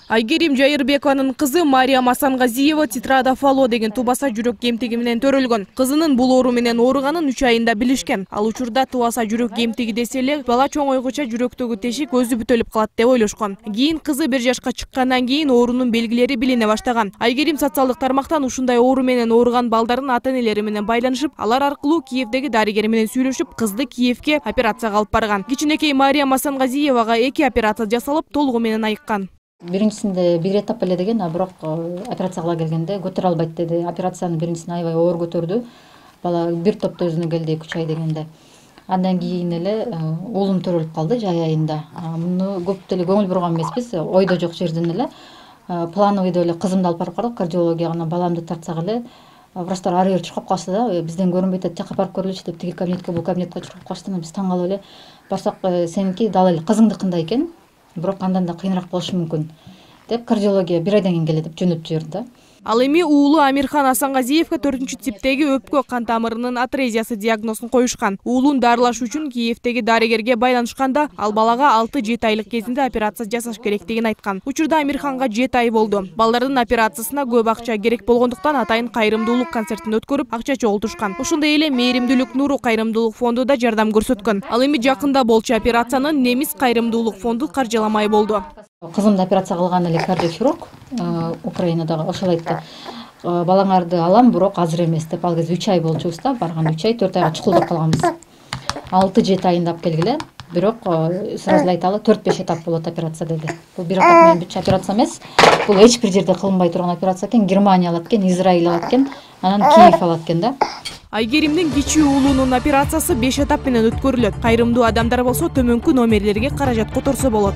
Айгерим Жайырбекованын кызы Мариям Асангазиева тетрадофало деген тубаса жүрөк кемтиги менен төрөлгөн. Кызынын бул оору менен ооруганын 3 айында билишкен. Ал учурда тубаса жүрөк кемтиги десе эле бала чоңойгуча жүрөктөгү тешик өзү бүтөлүп калат деп ойлошкон. Кийин кызы 1 жашка чыккандан кийин оорунун белгилери билине баштаган. Айгерим социалдык тармактан ушундай оору менен ооруган балдардын ата-энелери менен байланышып, алар аркылуу Киевдеги дарыгер менен сүйлөшүп, кызды Киевге операцияга алып барган. Кичинекей Мариям Асангазиевага 2 операция жасалып, толугу менен айыккан. Биринчисинде бир этап эле деген, бирок операция кыла келгенде көтөрө албайт деди. Операциянын биринчисин аябай оор көтөрдү. Бала бир топто өзүнө келди 2-3 ай дегенде. Андан кийин эле уулум төрөлүп калды жай айында. Муну көп деле көңүл бурган эмеспиз. Ойдо жок жерден эле плановыйда эле кызымды алып барып калдык кардиологияга, баламды тартсак эле врачтар ары бери чуркап калышты да, бизден көрүнбөйт, жакка барып көрөлүчү деп тиги кабинетке, бул кабинетке чуркап калышты. Биз таң калып эле барсак, сеники дал эле кызыңдыкындай экен, бирок андан да кыйыныраак болушу мүмкүн деп кардиология 1 айдан кийин келет деп жөнөтүп жиберди да. Ал эми уулу Амирхан Асангазиевге 4-типтеги өпкө кан тамырынын атрезиясы диагнозун коюшкан. Уулун дарылаш үчүн Киевдеги дарыгерге байланышканда, ал балага 6-7 айлык кезинде операция жасаш керектигин айткан. Учурда Амирханга 7 ай болду. Балдардын операциясына көп акча керек болгондуктан атайын кайрымдуулук концертин өткөрүп, акча чогултушкан. Ошондой эле Мээримдүүлүк Нуру кайрымдуулук фонду да жардам көрсөткөн. Ал эми жакында болчу операцияны Немис кайрымдуулук фонду каржыламай болду. Кызымды операция кылган эле кардиохирург Украинадагы ошол айтты. Балаңарды алам, бирок азыр эмес деп. Ал кезде 3 ай болчубуз да, барган 3 ай, 4 айга чукулдап калганбыз. 6-7 айында алып келгиле, бирок сразу айталы 4-5 этап болот операция деди. Бул бир этап менен бүт операция эмес. Бул эч бир жерде кылынбай турган операция экен. Германия алат экен, Израиль алат экен, анан Киев алат экен да. Айгеримдин кичүү уулунун операциясы 5 этап менен өткөрүлөт. Кайрымдуу адамдар болсо төмөнкү номерлерге каражат которсо болот.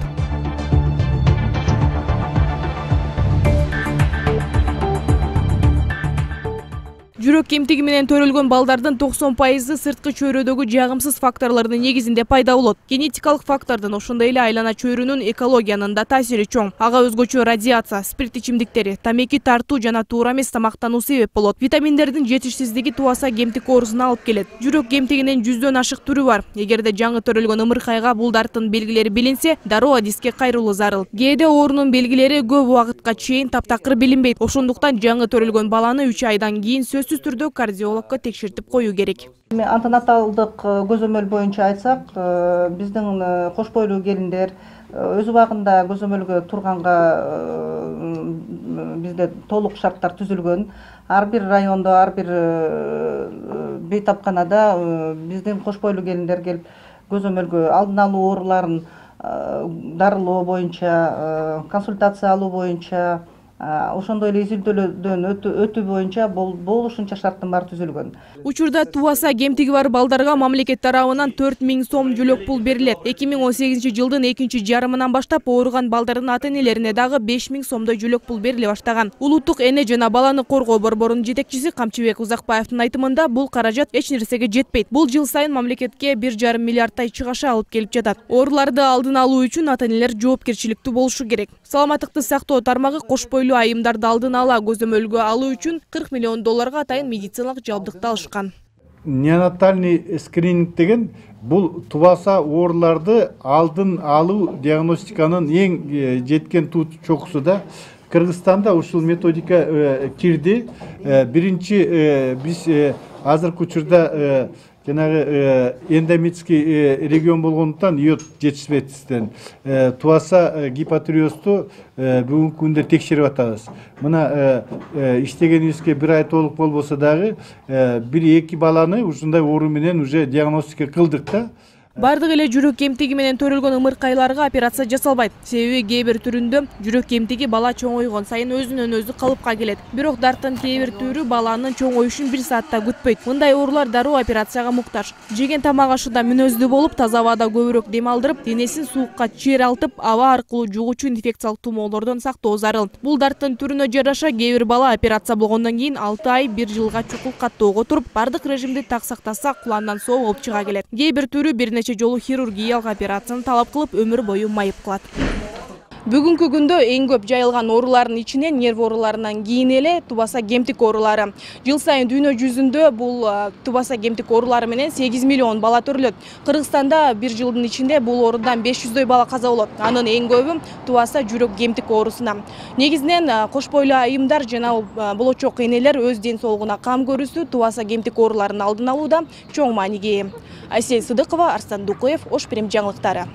Жүрөк кемтиги менен төрөлгөн балдардын 90% сырткы чөйрөдөгү жагымсыз факторлордун негизинде пайда болот. Генетикалык фактордун, ошондой эле айлана чөйрөнүн экологиянын да таасири чоң. Ага өзгөчө радиация, спирт ичимдиктери, тамеки тартуу жана туура эмес тамактануу себеп болот. Витаминдердин жетишсиздиги тубаса кемтик оорусуна алып келет. Жүрөк кемтигинин 100дөн ашык түрү бар. Эгерде жаңы төрөлгөн ымыркайга бул дарттын белгилери билинсе, дароо адиске кайрылуу зарыл. Кээде оорунун белгилери көп убакытка чейин таптакыр билинбейт. Ошондуктан жаңы төрөлгөн баланы 3 айдан кийин сөзсүз түрдө кардиологко текшертип кою керек. Антенаталдык көзөмөл боюнча айтсак, биздин кош бойлуу келиндер өз убагында көзөмөлгө турганга бизде толук шарттар түзүлгөн. Ар бир райондо, ар бир бейтапканада биздин кош бойлуу келиндер келип көзөмөлгө алдын алуу ооруларын дарылоо боюнча, консультация алуу боюнча, ошондой эле изилдөөлөрдөн өтүү боюнча болушунча шарттын баары түзүлгөн. Учурда тубаса кемтиги бар балдарга мамлекет тарабынан 4000 сом жөлөк пул берилет. 2018-жылдын 2-жарымынан баштап ооруган балдардын ата-энелерине дагы 5000 сомдой жөлөк пул бериле баштаган. Улуттук эне жана баланы коргоо борборунун жетекчиси Камчыбек Узакбаевдин айтымында, бул каражат эч нерсеге жетпейт. Бул жыл сайын мамлекетке 1,5 миллиардтай чыгаша алып келип жатат. Ооруларды алдын алуу үчүн ата-энелер жоопкерчиликтүү болушу керек. Саламаттыкты сактоо тармагы кош бойлуу айымдарды алдын ала көзөмөлгө алуу үчүн $40 миллион атайын медициналык жабдыкты алышкан. Неонатальный скрининг деген бул тубаса ооруларды алдын алуу диагностиканын эң жеткен чокусу да. Кыргызстанда ушул методика кирди. Биринчи биз азыркы учурда жанагы эндемический регион болгондуктан йод жетишпестен тубаса гипотиреозду бүгүнкү күндө текшерип атабыз. Мына иштегенибизге 1 ай толук болбосо дагы 1-2 баланы ушундай оору менен уже диагностика кылдык да. Бардык эле жүрөк кемтиги менен төрөлгөн ымыркайларга операция жасалбайт. Себеби кээ бир түрүндө жүрөк кемтиги бала чоңойгон сайын өзүнөн өзү калыпка келет. Бирок дарттын кээ бир түрү баланын чоңоюшун 1 саатта күтпөйт. Мындай оорулар дароо операцияга муктаж. Жеген тамак ашында мүнөздүү болуп, таза абада көбүрөөк дем алдырып, денесин суукка чыйралтып, аба аркылуу жугуучу инфекциялык тумоолордон сактоо зарыл. Бул дарттын түрүнө жараша кээ бир бала операция болгондон кийин 6 ай 1 жылга чукул каттоого туруп, бардык режимди так сактаса, куландан соо болуп чыга келет. Кээ бир түрү бир жолу хирургиялык операцияны талап кылып, өмүр бою майып кылат. Бүгүнкү күндө эң көп жайылган оорулардын ичинен нерв ооруларынан кийин эле тубаса кемтик оорулары. Жыл сайын дүйнө жүзүндө бул тубаса кемтик оорулары менен 8 миллион бала төрөлөт. Кыргызстанда бир жылдын ичинде бул оорудан 500дөй бала каза болот. Анын эң көбү тубаса жүрөк кемтик оорусуна. Негизинен кош бойлуу айымдар жана болочок энелер өз ден соолугуна кам көрүүсү тубаса кемтик ооруларынын алдын алууда чоң мааниге ээ. Айсел Сыдыкова, Арстан Дукуев, Ош Перим жаңылыктары.